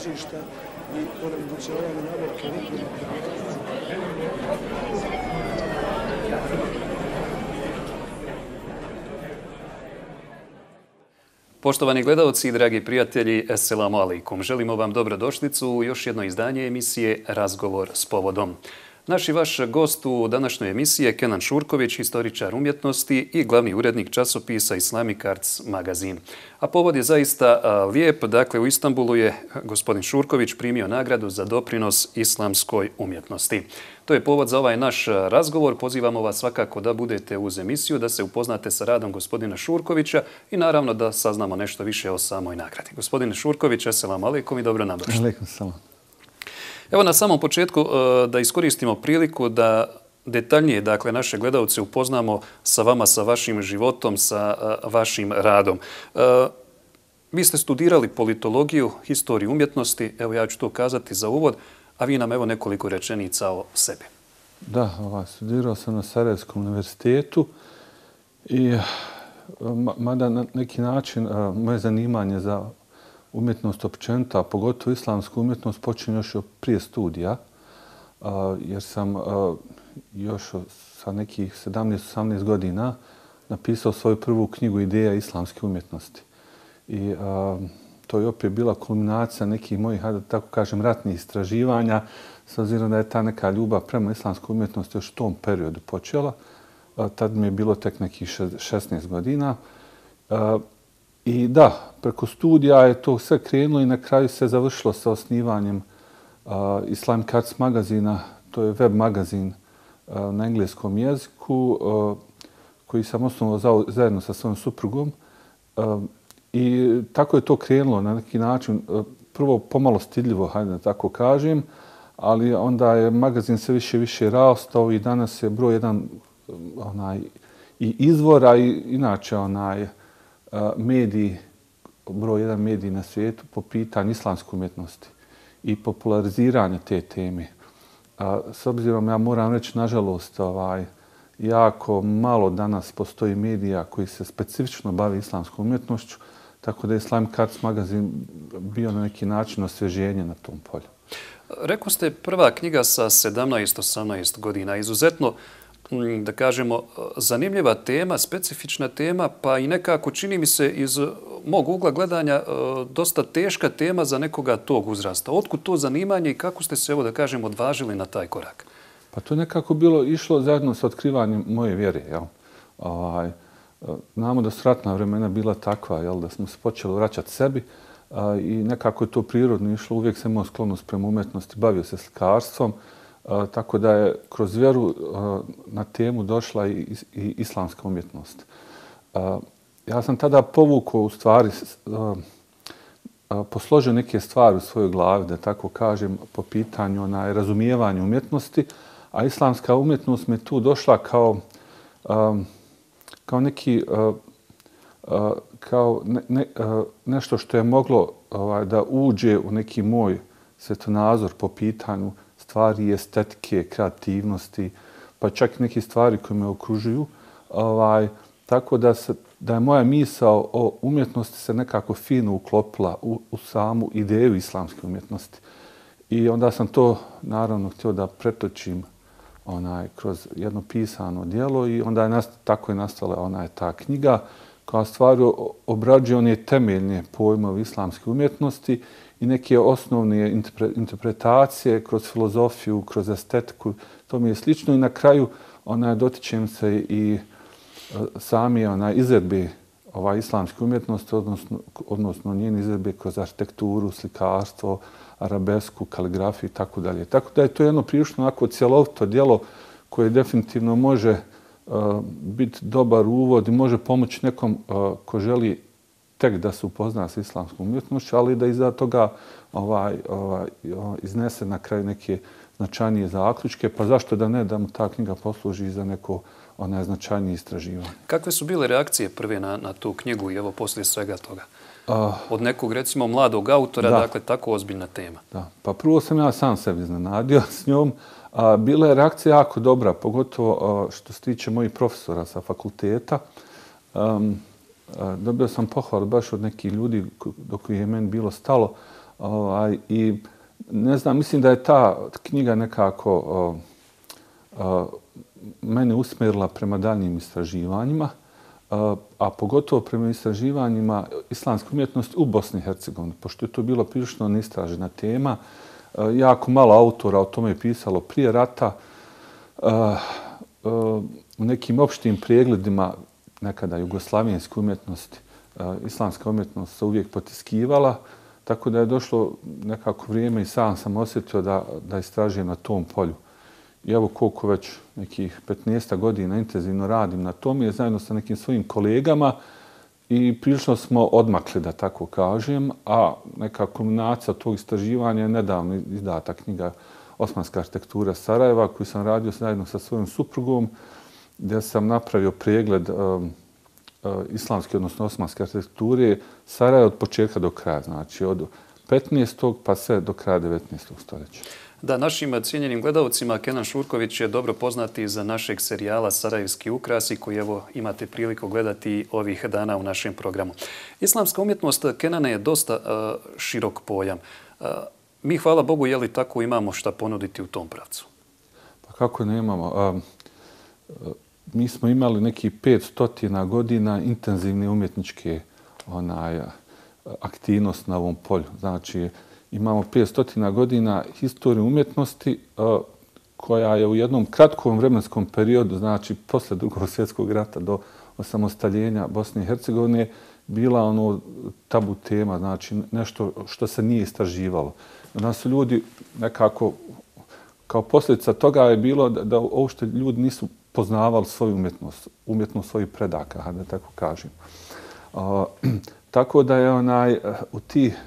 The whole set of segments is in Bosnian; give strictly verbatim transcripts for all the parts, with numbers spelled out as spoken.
klizišta i onemogućavanje nabavke lijekovnih. Poštovani gledalci i dragi prijatelji, Esselamu alaikum. Želimo vam dobrodošlicu u još jedno izdanje emisije Razgovor s povodom. Naš i vaš gost u današnjoj emisiji je Kenan Šurković, historičar umjetnosti i glavni urednik časopisa Islamic Arts magazin. A povod je zaista lijep. Dakle, u Istanbulu je gospodin Šurković primio nagradu za doprinos islamskoj umjetnosti. To je povod za ovaj naš razgovor. Pozivamo vas svakako da budete uz emisiju, da se upoznate sa radom gospodina Šurkovića i naravno da saznamo nešto više o samoj nagradi. Gospodine Šurković, Esselamu alaikum i dobro nam došli. Alaikum salam. Evo na samom početku da iskoristimo priliku da detaljnije, dakle, naše gledalce upoznamo sa vama, sa vašim životom, sa vašim radom. Vi ste studirali politologiju, historiju umjetnosti, evo ja ću to kazati za uvod, a vi nam evo nekoliko rečenica o sebi. Da, ovaj, studirao sam na Sarajevskom univerzitetu i mada na neki način moje zanimanje za umjetnost općenita, a pogotovo islamsku umjetnost, počinje još prije studija, jer sam još sa nekih sedamnaest osamnaest godina napisao svoju prvu knjigu Ideja islamske umjetnosti. I to je opet bila kulminacija nekih mojih, da tako kažem, ratnih istraživanja, s obzirom da je ta neka ljubav prema islamskoj umjetnosti još u tom periodu počela. Tad mi je bilo tek nekih šesnaest godina. I da, preko studija je to sve krenulo i na kraju se završilo sa osnivanjem uh, Islamic Arts magazina. To je web magazin uh, na engleskom jeziku uh, koji sam osnovao zajedno sa svojom suprugom. Uh, I tako je to krenulo na neki način. Uh, prvo pomalo stidljivo, hajde da tako kažem, ali onda je magazin sve više i više rastao i danas je broj jedan onaj, i izvora i inače onaj, mediji, broj jedan mediji na svijetu po pitanju islamske umjetnosti i populariziranja te teme. S obzirom, ja moram reći, nažalost, ovaj, jako malo danas postoji medija koji se specifično bavi islamskom umjetnošću, tako da je Islamic Arts magazin bio na neki način osvježenje na tom polju. Rekao ste prva knjiga sa sedamnaest osamnaest godina, izuzetno da kažemo, zanimljiva tema, specifična tema, pa i nekako čini mi se iz mog ugla gledanja dosta teška tema za nekoga tog uzrasta. Otkud to zanimanje i kako ste se, evo da kažem, odvažili na taj korak? Pa to je nekako bilo išlo zajedno sa otkrivanjem moje vjere. Jel? Ovaj, znamo da su ratna vremena bila takva, jel? Da smo se počeli vraćati sebi i nekako je to prirodno išlo. Uvijek sam imao sklonost prema umjetnosti, bavio se slikarstvom. Uh, tako da je kroz vjeru uh, na temu došla i, i islamska umjetnost. Uh, ja sam tada povukao u stvari, uh, uh, posložio neke stvari u svojoj glavi, da tako kažem, po pitanju na razumijevanje umjetnosti, a islamska umjetnost mi je tu došla kao, um, kao neki, uh, uh, kao ne, ne, uh, nešto što je moglo uh, da uđe u neki moj svjetonazor po pitanju stvari, estetike, kreativnosti, pa čak i neke stvari koje me okružuju. Ovaj, tako da, se, da je moja misao o umjetnosti se nekako fino uklopila u, u samu ideju islamske umjetnosti. I onda sam to, naravno, htio da pretočim onaj, kroz jedno pisano djelo i onda je nast, tako je nastala onaj, ta knjiga koja stvari obrađuje one temeljne pojmove islamske umjetnosti i neke osnovne interpretacije kroz filozofiju, kroz estetiku. To mi je slično i na kraju onaj, dotičem se i sami onaj, izvedbe ovaj, islamske umjetnosti, odnosno, odnosno njene izvedbe kroz arhitekturu, slikarstvo, arabesku, kaligrafiju i tako dalje. Tako da je to jedno prilično onako cjelovito djelo koje definitivno može uh, biti dobar uvod i može pomoći nekom uh, ko želi tek da se upozna s islamskom umjetnošću, ali da iza toga ovaj, ovaj, iznese na kraju neke značajnije zaključke, pa zašto da ne da mu ta knjiga posluži za neko onaj značajnije istraživanje. Kakve su bile reakcije prve na, na tu knjigu i evo poslije svega toga? Uh, Od nekog, recimo, mladog autora, da. Dakle, tako ozbiljna tema. Da. Pa prvo sam ja sam sebi iznenadio s njom. A, bila je reakcija jako dobra, pogotovo a, što se tiče mojih profesora sa fakulteta. Um, a, dobio sam pohvalu baš od nekih ljudi do kojih je meni bilo stalo Ovaj, I ne znam, mislim da je ta knjiga nekako o, o, mene usmjerila prema daljnjim istraživanjima, a, a pogotovo prema istraživanjima islamske umjetnosti u Bosni i Hercegovini, pošto je to bilo prilično neistražena tema. A, jako malo autora o tome je pisalo prije rata. A, a, u nekim opštim pregledima nekada jugoslavijenske umjetnosti, a, islamska umjetnost se uvijek potiskivala, tako da je došlo nekako vrijeme i sam sam osjetio da, da istražujem na tom polju. I evo koliko već nekih petnaest godina intenzivno radim na tom je zajedno sa nekim svojim kolegama i prilično smo odmakli, da tako kažem, a neka kulminacija tog istraživanja je nedavno izdata knjiga Osmanska arhitektura Sarajeva koju sam radio zajedno sa svojom suprugom gdje sam napravio pregled um, uh, islamske, odnosno osmanske arhitekture Sarajeva od početka do kraja, znači od petnaestog pa sve do kraja devetnaestog stoljeća. Da, našim cijenjenim gledalcima Kenan Šurković je dobro poznati za našeg serijala Sarajevski ukrasi koji evo imate priliku gledati ovih dana u našem programu. Islamska umjetnost Kenane je dosta uh, širok pojam. Uh, mi, hvala Bogu, je li tako imamo šta ponuditi u tom pravcu? Pa kako nemamo? Uh, uh, mi smo imali neki petstotina godina intenzivne umjetničke onaj, aktivnost na ovom polju. Znači, imamo petstotina godina historije umjetnosti uh, koja je u jednom kratkom vremenskom periodu, znači posle Drugog svjetskog rata do osamostaljenja Bosne i Hercegovine, bila ono tabu tema, znači nešto što se nije istraživalo. Da su ljudi nekako, kao posljedica toga je bilo da, da uopšte ljudi nisu poznavali svoju umjetnost, umjetnost svojih predaka, da tako kažem. Uh, tako da je onaj, u tih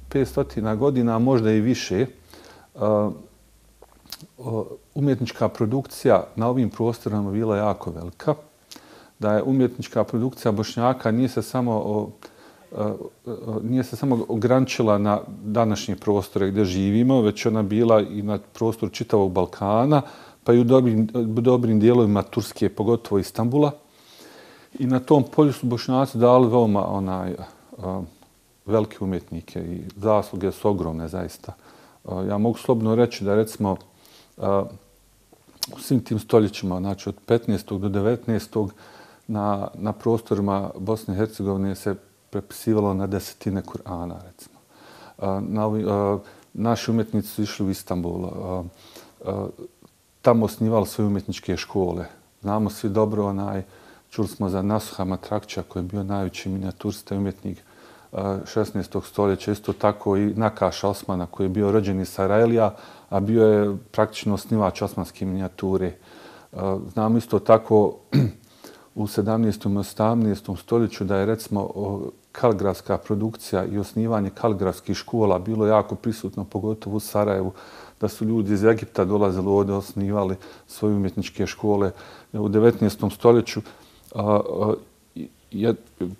petstotina godina, možda i više, umjetnička produkcija na ovim prostorama bila jako velika. Da je umjetnička produkcija Bošnjaka nije se samo, nije se samo ograničila na današnje prostore gdje živimo, već ona bila i na prostoru čitavog Balkana, pa i u dobrim, dobrim dijelovima Turske, pogotovo Istanbula. I na tom polju su Bošnjaci dali veoma onaj, velike umjetnike i zasluge su ogromne zaista. Ja mogu slobodno reći da recimo u svim tim stoljećima, znači od petnaestog do devetnaestog na, na prostorima Bosne i Hercegovine se prepisivalo na desetine Kur'ana, recimo. Na, naši umjetnici su išli u Istanbul, tamo osnivali svoje umjetničke škole. Znamo svi dobro, onaj, čuli smo za Nasuha Matrakća koji je bio najveći minijaturista i umjetnik šesnaestog stoljeća, isto tako i Nakaša Osmana koji je bio rođen iz Sarajlija, a bio je praktično osnivač osmanske minijature. Znamo isto tako u sedamnaestom i osamnaestom stoljeću da je recimo kaligrafska produkcija i osnivanje kaligrafskih škola bilo jako prisutno, pogotovo u Sarajevu, da su ljudi iz Egipta dolazili ovdje, osnivali svoje umjetničke škole. U devetnaestom stoljeću je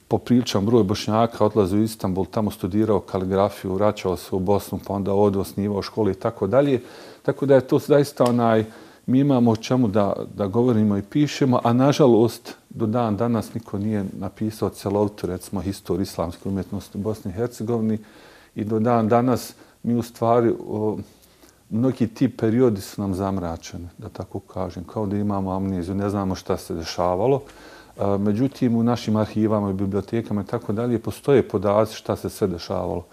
popriličan broj Bošnjaka odlazio u Istanbul, tamo studirao kaligrafiju, vraćao se u Bosnu, pa onda ovdje osnivao škole i tako dalje. Tako da je to zaista onaj, mi imamo o čemu da, da govorimo i pišemo, a nažalost do dan danas niko nije napisao celovitu, recimo, historiju islamske umjetnosti u Bosni i Hercegovini i do dan danas mi u stvari, o, mnogi ti periodi su nam zamračeni, da tako kažem, kao da imamo amneziju, ne znamo šta se dešavalo. Međutim, u našim arhivama i bibliotekama i tako dalje postoje podaci šta se sve dešavalo.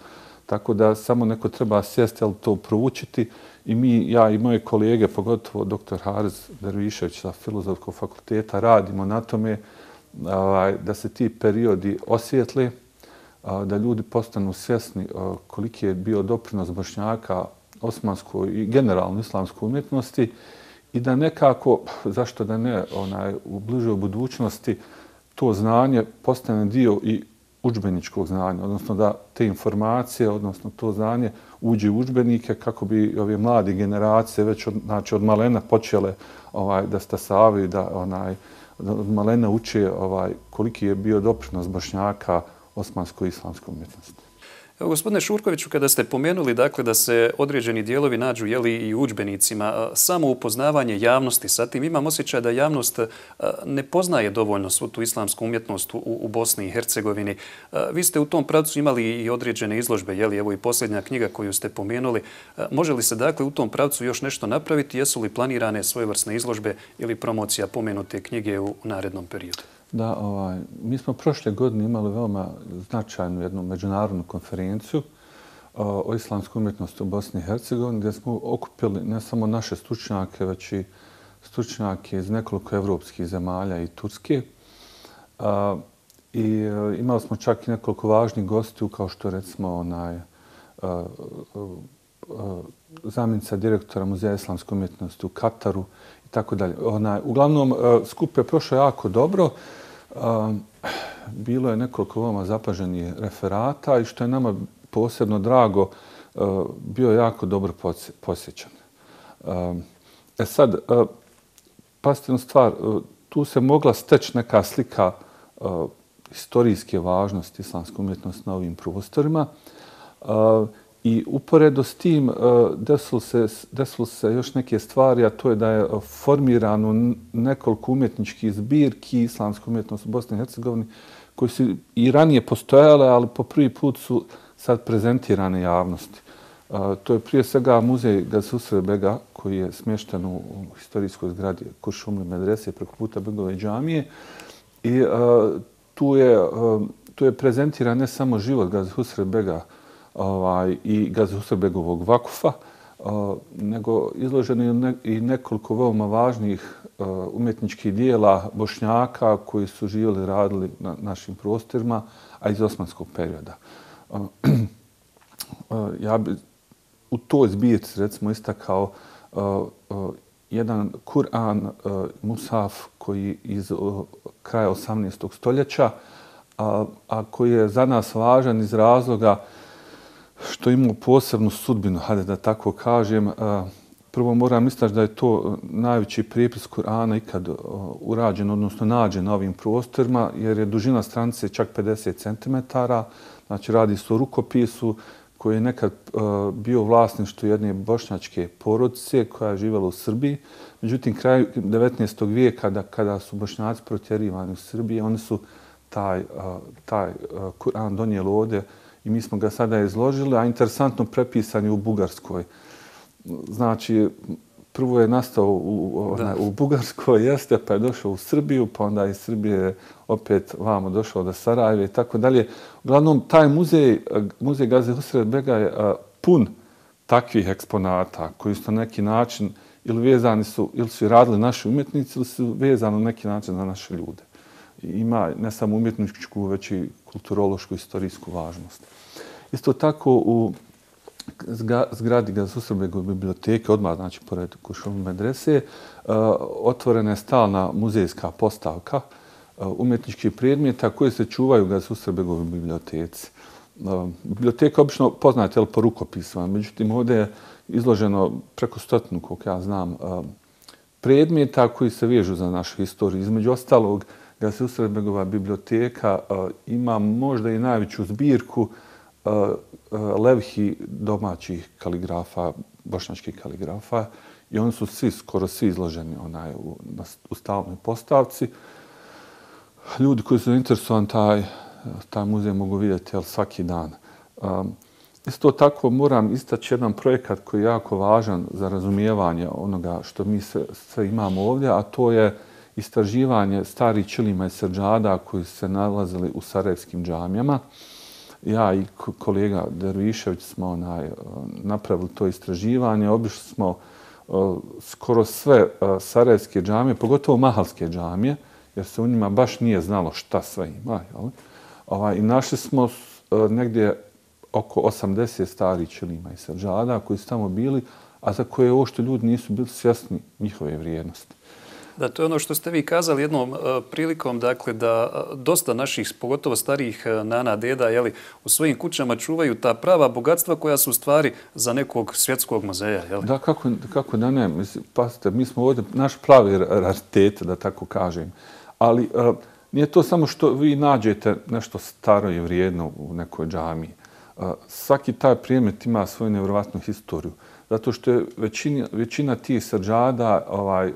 Tako da samo neko treba sjesti, ali to proučiti. I mi, ja i moje kolege, pogotovo doktor Haris Dervišević sa Filozofskog fakulteta, radimo na tome da se ti periodi osvijetle, da ljudi postanu svjesni koliki je bio doprinos Bošnjaka osmanskoj i generalno islamskoj umjetnosti i da nekako, zašto da ne, onaj, u bližoj budućnosti to znanje postane dio i udžbeničkog znanja, odnosno da te informacije, odnosno to znanje uđe u udžbenike kako bi ove mlade generacije već od, znači, od malena počele ovaj, da stasavaju, da onaj, od malena uče ovaj, koliki je bio doprinos Bošnjaka osmanskoj i islamskoj umjetnosti. Evo, gospodine Šurkoviću, kada ste pomenuli dakle, da se određeni dijelovi nađu jeli, i u udžbenicima, samo upoznavanje javnosti sa tim, imam osjećaj da javnost ne poznaje dovoljno svu tu islamsku umjetnost u, u Bosni i Hercegovini. Vi ste u tom pravcu imali i određene izložbe, jeli, evo i posljednja knjiga koju ste pomenuli. Može li se dakle u tom pravcu još nešto napraviti? Jesu li planirane svojevrsne izložbe ili promocija pomenute knjige u narednom periodu? Da, ovaj, mi smo prošle godine imali veoma značajnu jednu međunarodnu konferenciju o, o islamskoj umjetnosti u Bosni i Hercegovini, gdje smo okupili ne samo naše stručnjake, već i stručnjake iz nekoliko evropskih zemalja i Turske. A, I a, imali smo čak i nekoliko važnih gostiju, kao što recimo onaj, a, a, a, zamjenica direktora Muzeja islamske umjetnosti u Kataru i tako dalje. Onaj, uglavnom, skup je prošao jako dobro. Bilo je nekoliko veoma zapaženih referata i što je nama posebno drago, bio je jako dobro posjećan. E sad, pazite na stvar, tu se mogla steći neka slika historijske važnosti islamske umjetnosti na ovim prostorima. I uporedo s tim desilo se, desilo se još neke stvari, a to je da je formirano nekoliko umjetničkih zbirki islamske umjetnosti u Bosni i Hercegovini koji su i ranije postojale, ali po prvi put su sad prezentirane javnosti. To je prije svega muzej Gazi Husrev Bega koji je smješten u historijskoj zgradi Kuršumli medrese preko puta Begove džamije. I tu je, tu je prezentiran ne samo život Gazi Husrev Bega Ovaj, i Gazi Husrev Begovog vakufa, uh, nego izloženo ne, i nekoliko veoma važnih uh, umjetničkih dijela Bošnjaka koji su živjeli i radili na našim prostorima, a iz osmanskog perioda. Uh, uh, ja bi u toj zbirci recimo istakao uh, uh, jedan Kur'an, uh, Musaf, koji iz uh, kraja osamnaestog stoljeća, a, a koji je za nas važan iz razloga što imamo posebnu sudbinu, hajde da tako kažem. Prvo moram istaći da je to najveći prijepis Kur'ana ikad urađen, odnosno nađen na ovim prostorima, jer je dužina stranice čak pedeset centimetara. Znači radi se o rukopisu koji je nekad bio vlasništvo jedne bošnjačke porodice koja je živjela u Srbiji. Međutim, kraju devetnaestog vijeka, kada, kada su Bošnjaci protjerivani u Srbiji, oni su taj, taj Kur'an donijeli ovdje i mi smo ga sada izložili, a interesantno prepisan je u Bugarskoj. Znači, prvo je nastao u, ona, u Bugarskoj, jeste, pa je došao u Srbiju, pa onda iz Srbije opet vamo došao do Sarajeva i tako dalje. Uglavnom, taj muzej, muzej Gazi Husrev Bega je pun takvih eksponata koji su na neki način ili vezani su, ili su radili naši umjetnici, ili su vezani na neki način za naše ljude. Ima ne samo umjetničku, već i kulturološku i istorijsku važnost. Isto tako u zgradi Gazi Husrev Begove biblioteke, odmah znači pored Kuršumli medrese, otvorena je stalna muzejska postavka umjetničkih predmeta koje se čuvaju u Gazi Husrev Begove biblioteci. Biblioteka obično poznate po rukopisima, međutim ovdje je izloženo preko stotinu, koliko ja znam, predmeta koji se vežu za našu historiju. Između ostalog, Gazi Husrev Begova biblioteka uh, ima možda i najveću zbirku uh, uh, levhi domaćih kaligrafa, bošnjačkih kaligrafa, i oni su svi, skoro svi izloženi onaj, u, na, u stalnoj postavci. Ljudi koji su interesovani taj, taj muzej mogu vidjeti jel, svaki dan. Um, isto tako moram istaći jedan projekat koji je jako važan za razumijevanje onoga što mi sve, sve imamo ovdje, a to je istraživanje starih ćilima i srdžada koji se nalazili u sarajevskim džamijama. Ja i kolega Dervišević smo onaj, napravili to istraživanje. Obišli smo uh, skoro sve uh, sarajevske džamije, pogotovo mahalske džamije, jer se u njima baš nije znalo šta sve ima. Jel? Ovaj, I našli smo uh, negdje oko osamdeset starih ćilima i srdžada koji su tamo bili, a za koje uopšte ljudi nisu bili svjesni njihove vrijednosti. Da, to je ono što ste vi kazali jednom uh, prilikom, dakle, da uh, dosta naših, pogotovo starijih uh, nana, deda, jeli, u svojim kućama čuvaju ta prava bogatstva koja su u stvari za nekog svjetskog muzeja. Jeli? Da, kako, kako da ne. Mislim, pasite, mi smo ovdje naš pravi raritet, da tako kažem. Ali uh, nije to samo što vi nađete nešto staro i vrijedno u nekoj džamiji. Svaki taj predmet ima svoju nevjerovatnu historiju. Zato što je većina, većina tih sađada ovaj,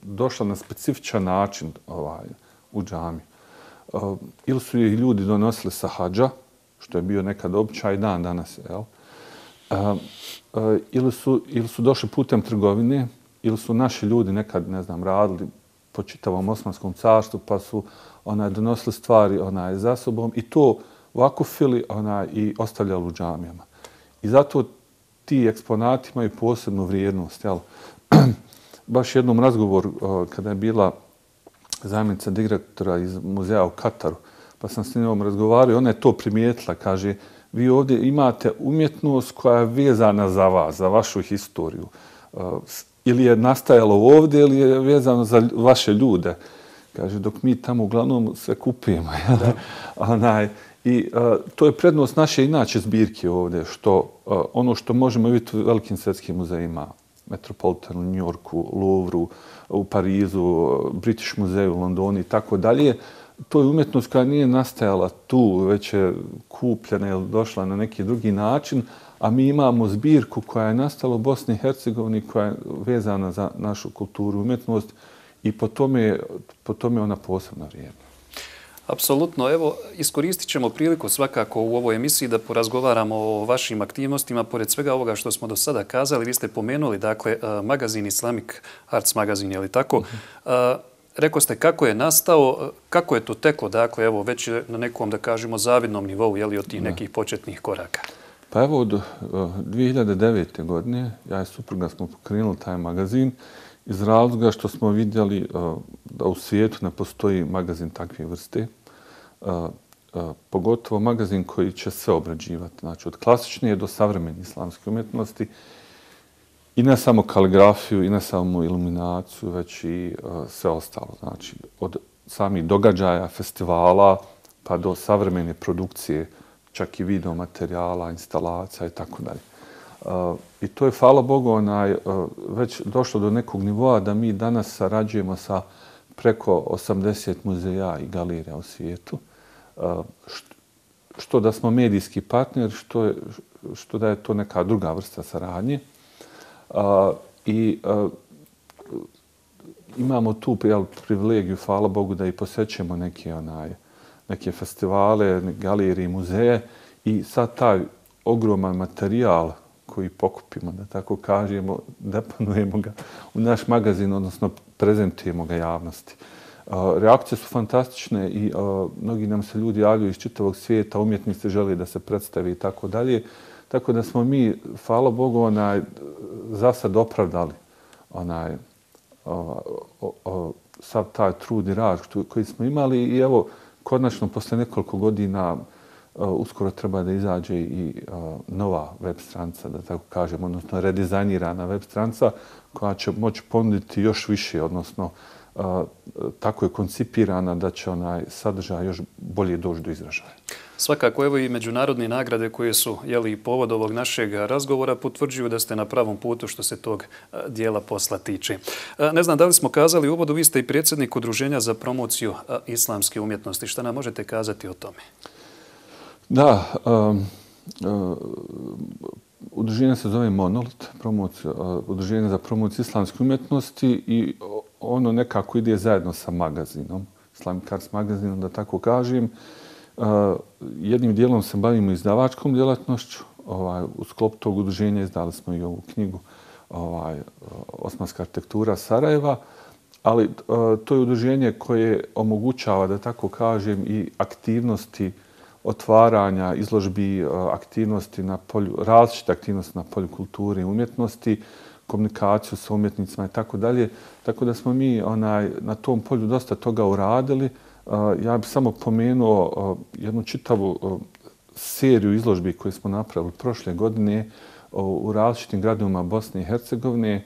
došla na specifičan način ovaj, u džamiju. Ili su ih ljudi donosili sa hadža, što je bio nekad običaj dan danas, jel? Ili su, ili su došli putem trgovine, ili su naši ljudi nekad, ne znam, radili po čitavom Osmanskom carstvu, pa su onaj, donosili stvari onaj, za sobom i to vakufili onaj, i ostavljali u džamijama. I zato ti eksponati imaju posebnu vrijednost. Jel? Baš jednom razgovoru kada je bila zamjenica direktora iz muzeja u Kataru, pa sam s njom razgovarao i ona je to primijetila. Kaže, vi ovdje imate umjetnost koja je vezana za vas, za vašu historiju. Ili je nastajalo ovdje ili je vezano za vaše ljude. Kaže, dok mi tamo uglavnom sve kupimo. Onaj, I uh, to je prednost naše inače zbirke ovdje, što uh, ono što možemo vidjeti u velikim svjetskim muzejima, Metropolitanu, New Yorku, Louvru, u Parizu, British muzeju u Londonu i tako dalje, to je umjetnost koja nije nastajala tu, već je kupljena ili došla na neki drugi način, a mi imamo zbirku koja je nastala u Bosni i Hercegovini, koja je vezana za našu kulturu i umjetnost i po tome, po tome ona posebno vrijedna. Apsolutno. Evo, iskoristit ćemo priliku svakako u ovoj emisiji da porazgovaramo o vašim aktivnostima. Pored svega ovoga što smo do sada kazali, vi ste pomenuli, dakle, magazin Islamic Arts magazin, je li tako? Uh-huh. Rekao ste kako je nastao, kako je to teklo, dakle, evo, već je na nekom, da kažemo, zavidnom nivou, je li, od tih nekih početnih koraka? Pa evo, od dvije hiljade devete. godine, ja i supruga smo pokrenuli taj magazin iz razloga što smo vidjeli da u svijetu ne postoji magazin takve vrste. Uh, uh, pogotovo magazin koji će sve obrađivati. Znači, od klasične do savremene islamske umjetnosti i ne samo kaligrafiju, i ne samo iluminaciju, već i uh, sve ostalo. Znači, od samih događaja, festivala, pa do savremene produkcije, čak i video materijala, instalacija i tako dalje. I to je, hvala Bogu, onaj, uh, već došlo do nekog nivoa da mi danas sarađujemo sa preko osamdeset muzeja i galerija u svijetu. Što da smo medijski partner, što, je, što da je to neka druga vrsta saradnje. I imamo tu jel, privilegiju, hvala Bogu, da i posjećemo neke, onaj, neke festivale, galerije, muzeje i sad taj ogroman materijal koji pokupimo, da tako kažemo, deponujemo ga u naš magazin, odnosno prezentujemo ga javnosti. Reakcije su fantastične i mnogi nam se ljudi javljaju iz čitavog svijeta, umjetnici žele da se predstavi i tako dalje. Tako da smo mi, hvala Bogu, onaj, za sad opravdali onaj, o, o, o, sav taj trud i rad koji smo imali i evo, konačno, posle nekoliko godina, uskoro treba da izađe i nova web stranca, da tako kažem, odnosno redizajnirana web stranca koja će moći ponuditi još više, odnosno tako je koncipirana da će onaj sadržaj još bolje doći do izražaja. Svakako, evo i međunarodne nagrade koje su jeli, povod ovog našeg razgovora potvrđuju da ste na pravom putu što se tog dijela posla tiče. Ne znam da li smo kazali u uvodu, vi ste i predsjednik Udruženja za promociju islamske umjetnosti. Šta nam možete kazati o tome? Da, um, uh, udruženje se zove Monolit, promocija, uh, udruženje za promociju islamske umjetnosti i ono nekako ide zajedno sa magazinom, Islamic Arts magazinom, da tako kažem. Uh, jednim dijelom se bavimo izdavačkom djelatnošću. Ovaj, u sklopu tog udruženja izdali smo i ovu knjigu ovaj, Osmanska arhitektura Sarajeva, ali uh, to je udruženje koje omogućava, da tako kažem, i aktivnosti otvaranja, izložbi, aktivnosti na polju, različite aktivnosti na polju kulture i umjetnosti, komunikaciju sa umjetnicima i tako dalje. Tako da smo mi onaj, na tom polju dosta toga uradili. Ja bih samo pomenuo jednu čitavu seriju izložbi koje smo napravili prošle godine u različitim gradovima Bosne i Hercegovine,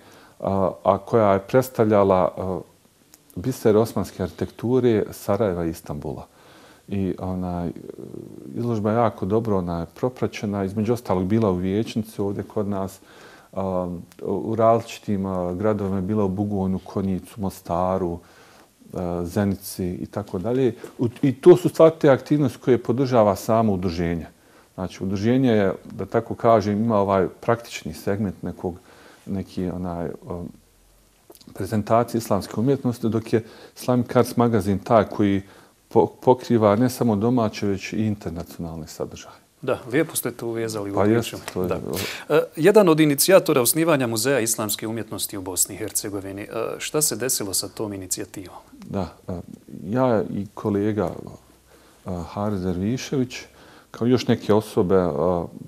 a koja je predstavljala biser osmanske arhitekture Sarajeva i Istanbula. I onaj, izložba je jako dobro ona, propraćena, između ostalog bila u Vijećnici ovdje kod nas, um, u različitim uh, gradovima je bila u Bugojnu, Konjicu, Mostaru, uh, Zenici i tako dalje. I to su stvari te aktivnosti koje podržava samo udruženje. Znači, udruženje je, da tako kažem, ima ovaj praktični segment nekog, neki onaj, um, prezentacije islamske umjetnosti, dok je Islamic Arts magazin taj koji po, pokriva ne samo domaće, već i internacionalne sadržaje. Da, lijepo ste to uvezali u pa priču. Jest, to je... Da. E, jedan od inicijatora osnivanja Muzeja islamske umjetnosti u Bosni i Hercegovini. E, šta se desilo sa tom inicijativom? Da, ja i kolega Haris Dervišević, kao još neke osobe,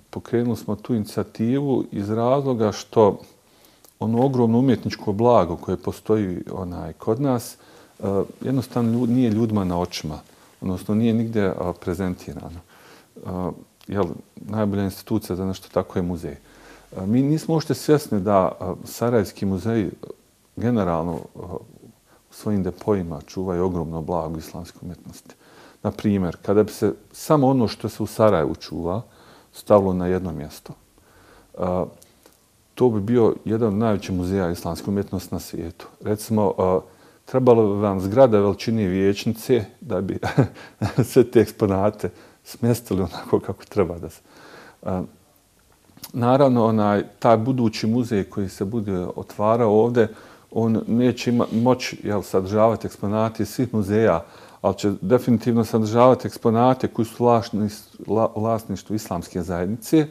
pokrenuli smo tu inicijativu iz razloga što ono ogromno umjetničko blago koje postoji onaj kod nas jednostavno ljud, nije ljudima na očima, odnosno nije nigdje prezentirano. Jel, najbolja institucija za nešto tako je muzej. Mi nismo uopšte svjesni da Sarajevski muzej generalno u svojim depojima čuvaju ogromno blago islamske umjetnosti. Na primjer, kada bi se samo ono što se u Sarajevu čuva stavilo na jedno mjesto, to bi bio jedan od najvećih muzeja islamske umjetnosti na svijetu. Recimo, trebalo bi vam zgrada veličine vijećnice da bi sve te eksponate smjestili onako kako treba da se. Naravno, onaj, taj budući muzej koji se bude otvarao ovdje, on neće ima, moći jel, sadržavati eksponate svih muzeja, ali će definitivno sadržavati eksponate koji su u vlasništvu islamske zajednice,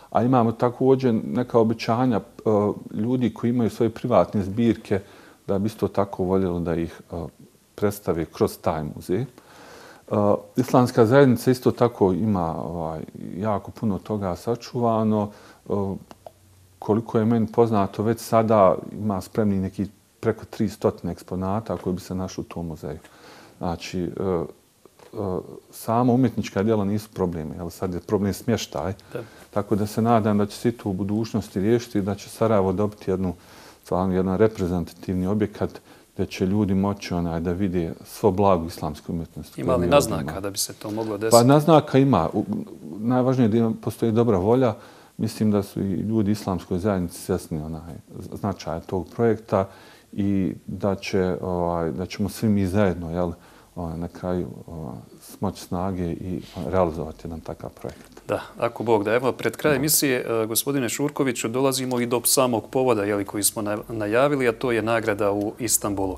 a imamo također neka obećanja uh, ljudi koji imaju svoje privatne zbirke da bi isto tako voljeli da ih uh, predstave kroz taj muzej. Uh, islamska zajednica isto tako ima ovaj, jako puno toga sačuvano. Uh, koliko je meni poznato, već sada ima spremni neki preko tristo eksponata koji bi se našli u tom muzeju. Znači, uh, uh, samo umjetnička djela nisu problemi, ali sad je problem smještaj. Da. Tako da se nadam da će se to u budućnosti riješiti i da će Sarajevo dobiti jednu, stvarno, jedan reprezentativni objekat gdje će ljudi moći onaj, da vide svo blago islamske umjetnosti. Ima li naznaka da bi se to moglo desiti? Pa naznaka ima. Najvažnije je da postoji dobra volja. Mislim da su i ljudi islamskoj zajednici svjesni onaj značaja tog projekta i da, će, ovaj, da ćemo svi mi zajedno jel, ovaj, na kraju ovaj, smoći snage i realizovati jedan takav projekt. Da, ako Bog da. Evo, pred kraj emisije, gospodine Šurkoviću, dolazimo i do samog povoda jeli, koji smo najavili, a to je nagrada u Istanbulu.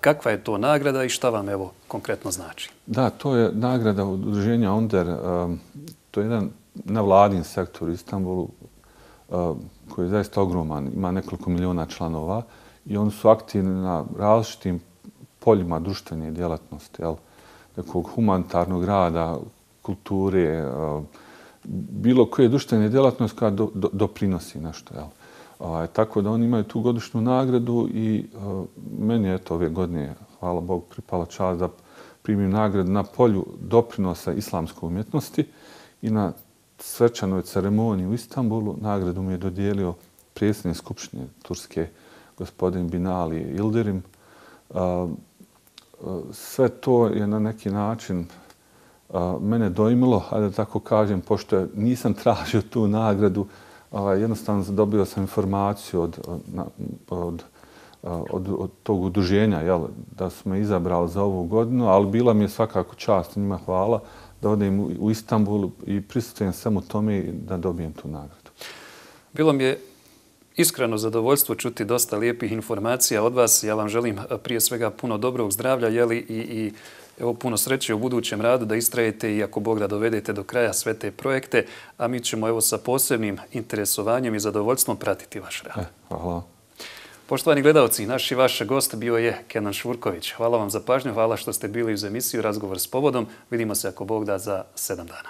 Kakva je to nagrada i šta vam evo konkretno znači? Da, to je nagrada udruženja Onder. To je jedan nevladin sektor u Istanbulu koji je zaista ogroman, ima nekoliko miliona članova i oni su aktivni na različitim poljima društvene djelatnosti, jel? Nekog humanitarnog rada, kulture, bilo koje društvene djelatnosti koja do, do, doprinosi nešto. Jel? A, tako da oni imaju tu godišnju nagradu i a, meni je to ove godine, hvala Bogu, pripala čast da primim nagradu na polju doprinosa islamske umjetnosti i na svečanoj ceremoniji u Istanbulu nagradu mi je dodijelio predsjednik Skupštine Turske, gospodin Binali Yildirim. A, sve to je na neki način a, mene dojmilo, a da tako kažem, pošto nisam tražio tu nagradu, a, jednostavno dobio sam informaciju od, od, od, od, od tog udruženja jel, da su me izabrali za ovu godinu, ali bila mi je svakako čast, njima hvala, da odem u, u Istanbul i prisustujem samo tome da dobijem tu nagradu. Bilo mi je iskreno zadovoljstvo čuti dosta lijepih informacija od vas. Ja vam želim prije svega puno dobrog zdravlja jeli, i, i evo, puno sreće u budućem radu, da istrajete i ako Bog da dovedete do kraja sve te projekte, a mi ćemo evo sa posebnim interesovanjem i zadovoljstvom pratiti vaš rad. E, hvala. Poštovani gledalci, naš i vaš gost bio je Kenan Šurković. Hvala vam za pažnju, hvala što ste bili uz emisiju Razgovor s povodom. Vidimo se ako Bog da za sedam dana.